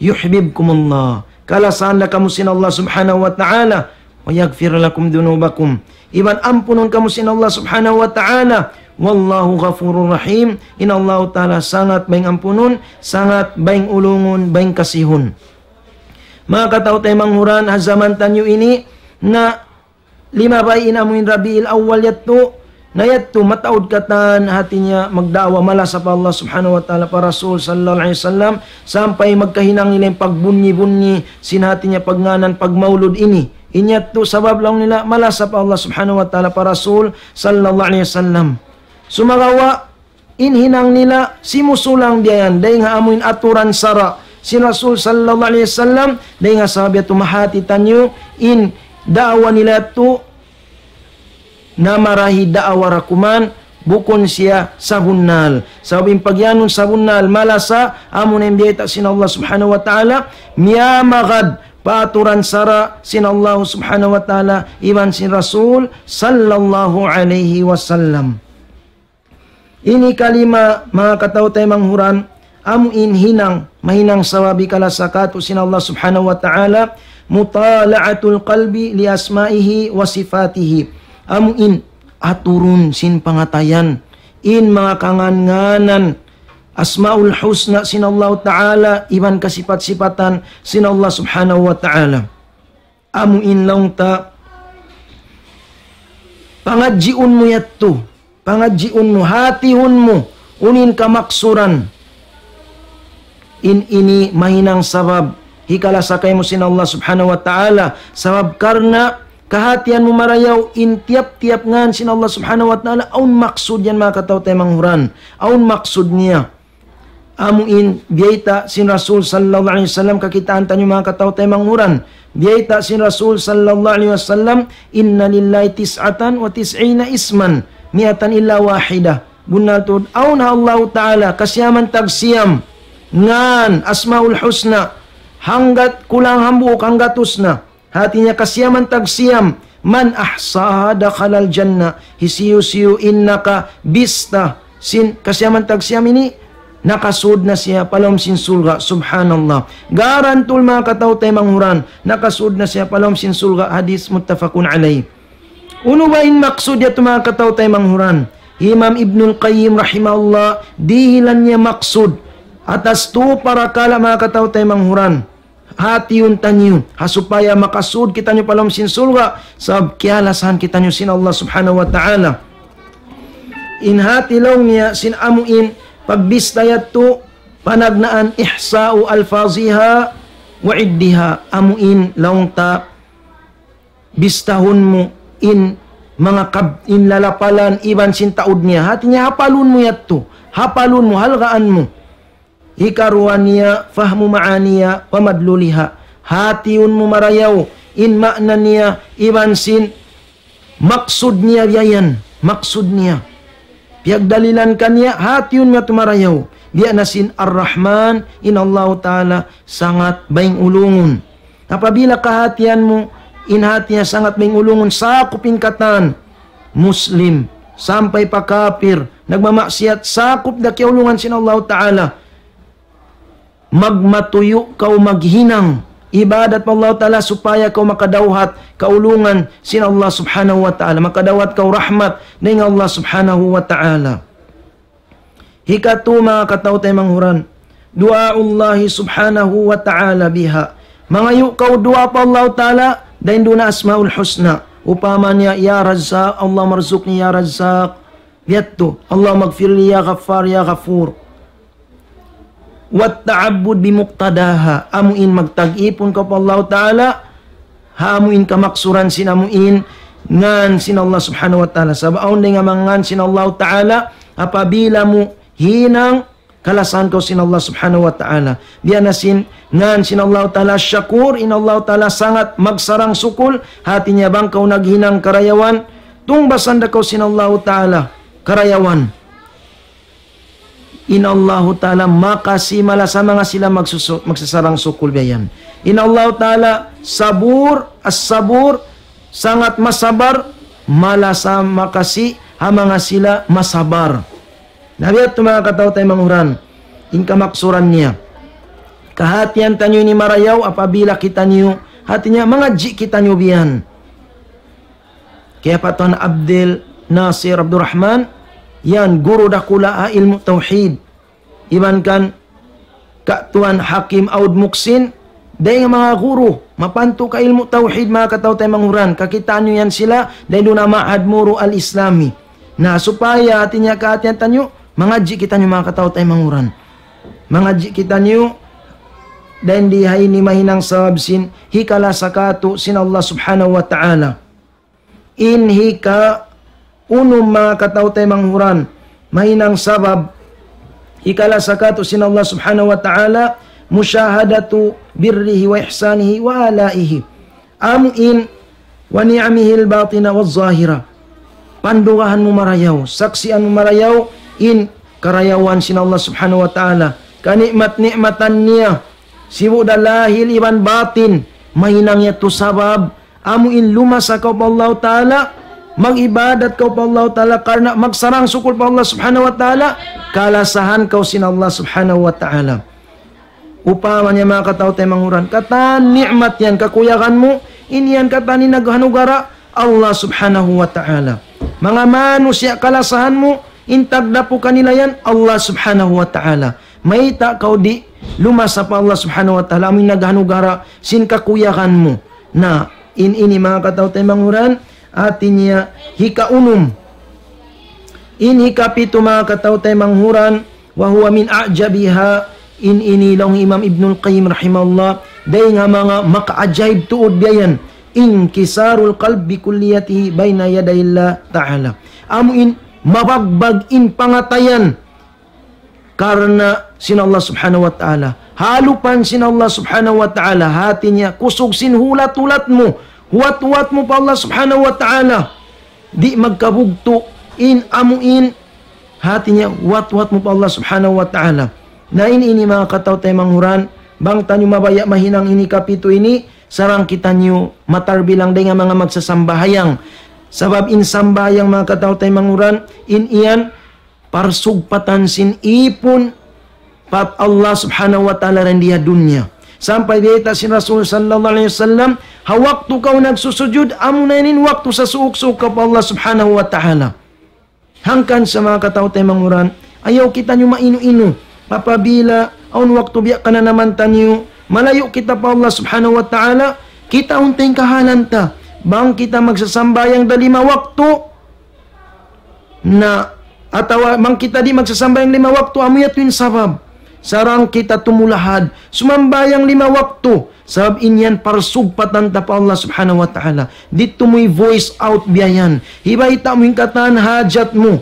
يحببكم الله. Kalasahan da kamu sin Allah Subhanahu wa Ta'ala. ويغفر لكم ذنوبكم. Iban ampunun kamu sin Allah Subhanahu wa Ta'ala. والله غفور رحيم. In Allahu Ta'ala sangat bayng ampunun, sangat bayng ulungun, bayng kasihun. Manga kataw-taymanghuran, ha jaman taniyu ini, na limabay in amu in Rabiul Awwal yadtu, na yadtu mataud katan hati niya magdaawa malasa pa Allah Subhanahu wa Ta'ala, pa Rasul sallallahu alayhi wasallam, sampay magkahinang nila in pagbunyi-bunyi sin hati niya pagngānan pagmaulud ini. In yadtu sabab laung nila malasa pa Allah Subhanahu wa Ta'ala, pa Rasul sallallahu alayhi wasallam. Sumagawa', in hinang nila simusulang biya' yan, dayn ha amu in aturan sara' sin Rasul sallallahu alayhi wasallam, dayn ha sabab yadtu mahāti taniyu in daawa nila yadtu na marahi daawa ra kuman, bukun siya sabunnal. Sabab in pagiyanun sabunnal malasa, amu na in biyayta' sin Allah Subhanahu wa Ta'ala, miyamagad pa aturan sara' sin Allah Subhanahu wa Ta'ala, iban sin Rasul sallallahu alayhi wasallam. Ini kalima, manga kataw-taymanghuran, amu in hinang, mahinang sabab hikalasa kātu' sin Allah Subhanahu wa Ta'ala, مطالعة القلب لأسمائه وصفاته. Amu in aturun sin pangatayan in manga kangān-ngānan, Asmaul Husna sin Allah Ta'ala, iban kasipat-sipatan sin Allah Subhanahu wa Ta'ala. Amu in laung ta, pangadjiun mu yadtu, pangadjiun mu, hātihun mu, unu in kamaksuran. In ini mahinang sabab hikalasa kaymu sin Allah Subhanahu wa Ta'ala. Sabab karna' kahātihan mu marayaw in tiyap-tiyap ngān sin Allah Subhanahu wa Ta'ala, awn maksud yan, manga kataw-taymanghuran. Awn maksud niya. Amu in biyayta' sin Rasul sallallahu alayhi wasallam, kakitaan taniyu, manga kataw-taymanghuran. Biyayta' sin Rasul sallallahu alayhi wasallam, إن لله تسعة وتسعين اسما مائة إلا واحدة. Bunnal tuud, awn ha Allahu Ta'ala kasiyaman tagsiyam ngān, Asmaul Husna, hanggat kulang hambuuk, hanggatus na. Hāti niya kasiyaman tagsiyam, من أحصاها دخل الجنة. Hisiyu-siyu in nakabista sin kasiyaman tagsiyam ini, nakasūd na siya pa lawm sin surga'. Subhanallah. Garantul, manga kataw-taymanghuran, nakasūd na siya pa lawm sin surga'. Hadith muttafaqun alayh. Unu ba in maksud yadtu, manga kataw-taymanghuran? Imam Ibnul Qayyim rahimahullah, dihilan niya maksud atas tū parakala', manga kataw-taymanghuran. Hātihun taniyu, ha supaya makasūd kitaniyu pa lawm sin surga', sabab kiyalasahan kitaniyu sin Allah Subhanahu wa Ta'ala. In hāti laung niya sin amu in pagbista yadtu, panagnaan إحصاء ألفاظها وعدها. Amu in laung ta bistahun mu in manga kab-, in lalapalan iban sin taud niya. Hāti niya hapalun mu yadtu, hapalun mu, halgaan mu. Hikaruwa niya, فهم معانيها ومدلولها. Hātihun mu marayaw in maana niya iban sin maksud niya biya' yan, maksud niya. Piyagdalilan kaniya, hātihun mu yadtu marayaw. Biya' na sin Ar-Rahman, in Allahu Ta'ala sangat bayng ulungun. Apabila kahātihan mu, in hāti niya sangat bayng ulungun, sakup in katan Muslim, sampay pa kapir, nagmamaksiyat, sakup da kiyaulungan sin Allahu Ta'ala. Magmatuyu' kaw maghinang ibadat pa Allahu Ta'ala supaya kaw makadawhat kaulungan sin Allah Subhanahu wa Ta'ala, makadawhat kaw rahmat dayn ha Allah Subhanahu wa Ta'ala. Hikatū, manga kataw-taymanghuran, دعاء الله سبحانه وتعالى بها. Mangayu' kaw duwaa pa Allah Ta'ala, dayn duun ha Asmaul Husna. Upama niya, يا رزاق، اللهم ارزقني يا رزاق. Yadtu, اللهم اغفر لي يا غفار يا غفور. والتعبد بمقتضاها. Amu in magtag-ipun kaw pa Allah Ta'ala, ha amu in kamaksuran sin amu in ngan sin Allah Subhanahu wa Ta'ala. Sabab awn dayn ha manga ngan sin Allah Ta'ala, apabila mu hinang kalasahan kaw sin Allah Subhanahu wa Ta'ala. Biya' na sin ngan sin Allah Ta'ala Shakur, in Allah Ta'ala sangat magsarang-sukul, hati niya bang kaw naghinang karayawan, tungbasan da kaw sin Allah Ta'ala karayawan. In Allah Ta'ala makasi malasa manga sila magsusu-, magsasarang-sukul biya' yan. In Allah Ta'ala Sabur, As-Sabur, sangat masabar, malasa makasi ha manga sila masabar. Na biya' yadtu manga kataw-taymanghuran, in kamaksuran niya. Kahatihan taniyu ini marayaw apabila kitaniyu, hati niya mangadji' kitaniyu biya' yan. Kiyapatan Abdul Nasir Abdul Rahman, yan guru dakula' ha ilmu' tawhid. Iban kan Ka' Tuan Hakim Aud Muksin, dayn ha manga guru, mapantu' ka ilmu' tawhid, manga kataw-taymanghuran, kakitaan niyu yan sila, dayn duun ha Ma'had Muru Al-Islami. Na, supaya hati niya kahatihan taniyu, mangadji' kitaniyu, manga kataw-taymanghuran. Mangadji' kitaniyu, dayn di ha ini mahinang sabab sin, hikalasa katu' sin Allah Subhanahu wa Ta'ala. In hika unum, manga kataw-taymanghuran, mahinang sabab hikalasa katu' sin Allah Subhanahu wa Ta'ala, مشاهدة بره وإحسانه وآلائه. Amu in ونعمه الباطنة والظاهرة. Pandugahan mu marayaw, saksian mu marayaw, in karayawan sin Allah Subhanahu wa Ta'ala, kanikmat-nikmatan niya, sibu' da lahil iban batin, mahinang yadtu sabab, amu in lumasa kaw pa Allah Ta'ala, mag-ibadat kaw pa Allah Ta'ala, karna' magsarang-sukul pa Allah Subhanahu wa Ta'ala, kalasahan kaw sin Allah Subhanahu wa Ta'ala. Upama niya, manga kataw-taymanghuran, katan ni'mat yan, kakuyagan mu, in yan katan in naghanugara, Allah Subhanahu wa Ta'ala. Manga manusiya' kalasahan mu, in tagdapu kanila yan, Allah Subhanahu wa Ta'ala. Mayta' kaw di' lumasa pa Allah Subhanahu wa Ta'ala, amu in naghanugara sin kakuyagan mu. Na, in ini, manga kataw-taymanghuran, hati niya hikaunum. In hikapitu, manga kataw-taymanghuran, وهو من أعجبها, in ini laung Imam Ibnul Qayyim rahimahullah, dayn ha manga makaajaib tuud biya' yan, انكسار القلب بكليته بين يدي الله تعالى. Amu in mabagbag in pangatayan karna' sin Allah Subhanahu wa Ta'ala. Halupan sin Allah Subhanahu wa Ta'ala, hati niya kusug sin hulat-hulat mu, huwat-huwat mu pa Allah Subhanahu wa Ta'ala. Di' magkabugtu' in amu in, hati niya huwat-huwat mu pa Allah Subhanahu wa Ta'ala. Na in ini, manga kataw-taymanghuran, bang taniyu mabaya' mahinang ini kapitu ini, sarang kitaniyu matarbilang dayn ha manga magsasambahayang. Sabab in sambahayang, manga kataw-taymanghuran, in yan parsugpatan sin ipun pa Allah Subhanahu wa Ta'ala dayn di ha dunya. Sampay biyayta' sin Rasul sallallahu alayhi wasallam, ha waktu kaw nagsusujud, amu na yan in waktu sasuuk-suuk kaw pa Allah Subhanahu wa Ta'ala. Hangkan sa, manga kataw-taymanghuran, ayaw kitaniyu mainu-inu. Apabila awn waktu biya' kananaman taniyu, malayu' kita pa Allah Subhanahu wa Ta'ala, kitaun ta in kahalan ta. Bang kita magsasambahayang da lima waktu, na, atawa bang kita di' magsasambahayang lima waktu, amu yadtu in sabab. Sarang kita tumulahad, sumambahayang lima waktu, sabab in yan parsugpatan ta pa Allah Subhanahu wa Ta'ala. Di' tuud mu i-voice out biya' yan. Hibayta' mu in katan hajat mu.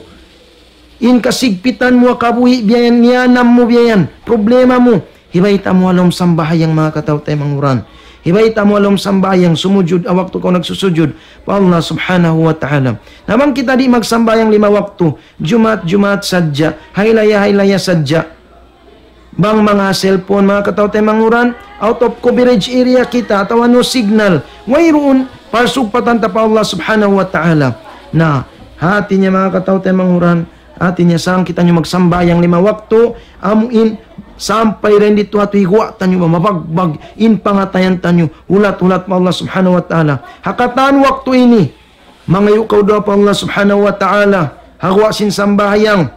In kasigpitan mu ha kabuhi' biya' yan, niyanam mu biya' yan, problema mu. Hibayta' mu ha lawm sambahayang, manga kataw-taymanghuran. Hibayta' mu ha lawm sambahayang, sumujud, ha waktu kaw nagsusujud pa Allah Subhanahu wa Ta'ala. Na bang kita di' magsambahayang lima waktu, Jumaat-Jumaat sadja, hailaya-hailaya sadja. Bang manga cellphone, manga kataw-taymanghuran, out of coverage area kita, atawa no signal, wayruun, parsugpatan ta pa Allah Subhanahu wa Ta'ala. Na, hati niya, manga kataw-taymanghuran, hati niya sarang kitaniyu magsambahayang lima waktu, amu in sampay dayn didtu ha tuwi' guwa' taniyu ba mabagbag in pangatayan taniyu, hulat-hulat pa Allah Subhanahu wa Ta'ala. Ha katan waktu ini, mangayu' kaw duwaa pa Allah Subhanahu wa Ta'ala, ha guwa' sin sambahayang.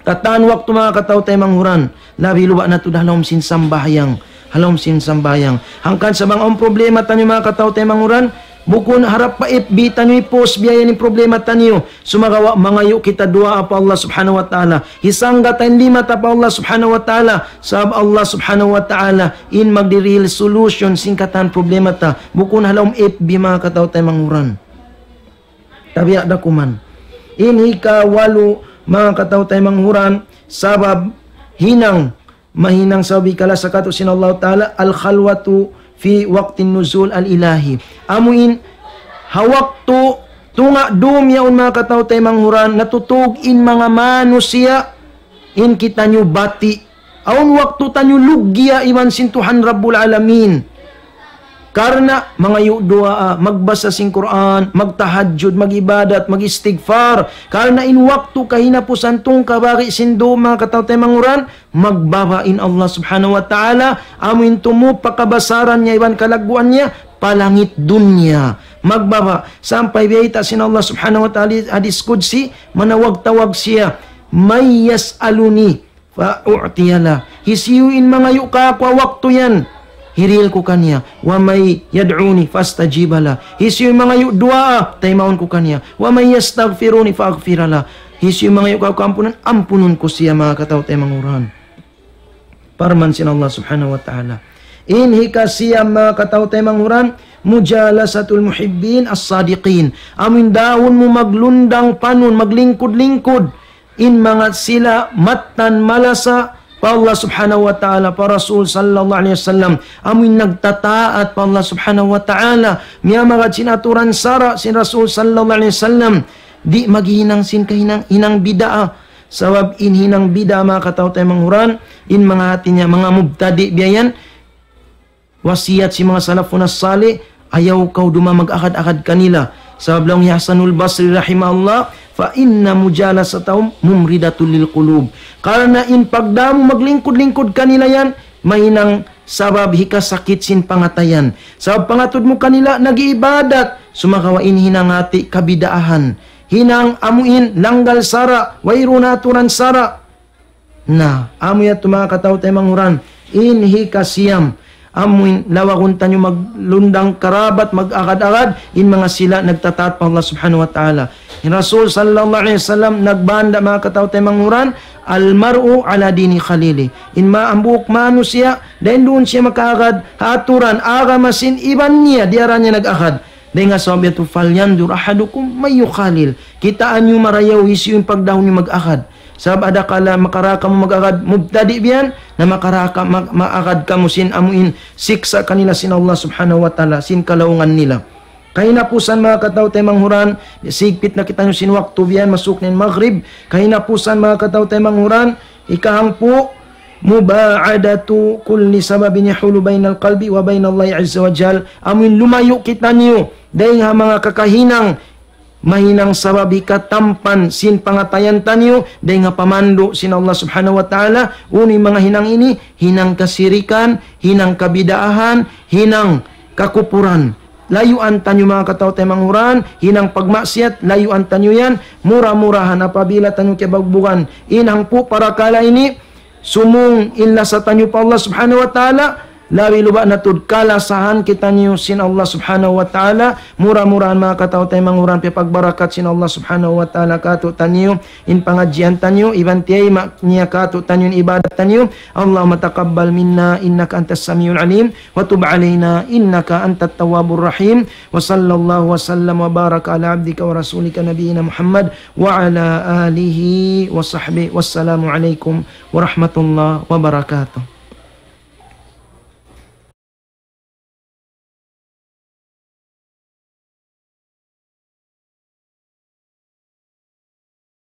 Katan waktu, manga kataw-taymanghuran, labi luba' na tuud ha lawm sin sambahayang. Ha lawm sin sambahayang. Hangkan sa' bang awn problema taniyu, manga kataw-taymanghuran, bukun harap pa F B taniyu i-post biya' yan in problema taniyu. Sumagawa' mangayu' kita duwaa pa Allah Subhanahu wa Ta'ala. Hisangga ta in lima ta pa Allah Subhanahu wa Ta'ala. Sabab Allah Subhanahu wa Ta'ala in magdihil solution sin katan problema ta. Bukun ha lawm F B, manga kataw-taymanghuran. Tabiya' da kuman. In hikawalu, manga kataw-taymanghuran, sabab hinang, mahinang sabab hikalasa katu' sin Allah Ta'ala, الخلوة في وقت النزول الإلهي. Amu in, ha waktu tunga' dum yaun, manga kataw-taymanghuran, natutug in manga manusiya', in kitaniyu bati'. Awn waktu taniyu luggiya iban sin Tuhan Rabbul Alamin. Karna' mangayu' duwaa, magbasa sin Qur'an, magtahajjud, mag-ibadat, mag-istighfar. Karna' in waktu kahinapusan tungka bagi sin dum, manga kataw-taymanghuran, magbaba' in Allah Subhanahu wa Ta'ala, amu in tumup pa kabasaran niya iban kalagguan niya, pa langit dunya. Magbaba', sampay biyayta' sin Allah Subhanahu wa Ta'ala hadis qudsi, manawag-tawag siya, من يسألني فأعطي له. Hisiyu in mangayu' kāku' ha waktu yan, hirihil ku kaniya. ومن يدعوني فأستجيب له. Hisiyu in mangayu' duwaa, taymaun ku kaniya. ومن يستغفرني فأغفر له. Hisiyu in mangayu' kāku' kaampunan, ampunun ku siya, manga kataw-taymanghuran. Parman sin Allah Subhanahu wa Ta'ala. In hikasiyam, manga kataw-taymanghuran, مجالسة المحبين الصادقين. Amu in dahun mu maglundang panun, maglingkud-lingkud in manga sila mattan malasa pa Allah Subhanahu wa Ta'ala, pa Rasul sallallahu alayhi wasallam. Amu in nagtataat pa Allah Subhanahu wa Ta'ala, miyamagad sin aturan sara' sin Rasul sallallahu alayhi wasallam. Di' maghinang sin kahinang, hinang bid'ah. Sabab in hinang bid'ah, manga kataw-taymanghuran, in manga hati niya, manga mubtadi' biya' yan, wasiyat sin manga salafun as-salih, ayaw kaw duma mag-agad-agad kanila. Sabab laung hi Hasanul Basri rahimahullah, فإن مجالستهم ممرضة للقلوب. Karna' in pagdahun mu maglingkud-lingkud kanila yan, mahinang sabab hikasakit sin pangatayan. Sabab pangatud mu kanila nag-iibadat, sumagawa' in hinang hati kabidaahan. Hinang amu in langgal sara', wayruun aturan sara'. Na, amu yadtu manga kataw-taymanghuran, in hikasiyam, amu in lawagun taniyu maglundang karabat, mag-agad-agad, in manga sila nagtataat pa Allah Subhanahu wa Ta'ala. In Rasul sallallahu alayhi wasallam nagbanda', manga kataw-taymanghuran, المرء على دين خليله. In ma-, hambuuk manusiya', dayn duun siya makaagad ha aturan agama sin iban niya, diyara niya nag-agad. Dayn ha sabab yadtu, فلينظر أحدكم من يخالل. Kitaa niyu marayaw hisiyu in pagdahun niyu mag-agad. Sabab adakala makaraa kamu mag-agad mubtadi' biya' yan, na makaraa ka-, ma-, maagad kamu sin amu in siksa' kanila sin Allah Subhanahu wa Ta'ala, sin kalaungan nila. Kahinapusan, manga kataw-taymanghuran, sigpit na kitaniyu sin waktu biya' yan, masuk na in Maghrib. Kahinapusan, manga kataw-taymanghuran, hikahangpu', مباعدة كل سبب يحول بين القلب وبين الله عز وجل. Amu in lumayu' kitaniyu dayn ha manga kakahinang, mahinang sabab hikatampan sin pangatayan taniyu, dayn ha pamandu' sin Allah Subhanahu wa Ta'ala, unu in manga hinang ini, hinang kasirikan, hinang kabidaahan, hinang kakupuran. Layuan taniyu manga kataw-taymanghuran, hinang pagmaksiyat, layuan taniyu yan, mura-murahan apabila taniyu kiyabugbugan in hangpu' parakala' ini, sumūng in lasa taniyu pa Allah Subhanahu wa Ta'ala, labi luba' na tuud kalasahan kitaniyu sin Allah Subhanahu wa Ta'ala, mura-murahan manga kataw-taymanghuran piyapagbarakat sin Allah Subhanahu wa Ta'ala kātu'niyu, in pangadjian taniyu, iban tiyayma' niya kātu'niyu in ibadat taniyu. اللهم تقبل منا إنك أنت السميع العليم وتب علينا إنك أنت التواب الرحيم. وصلى الله وسلم وبارك على عبدك ورسولك نبينا محمد وعلى آله وصحبه. والسلام عليكم ورحمة الله وبركاته.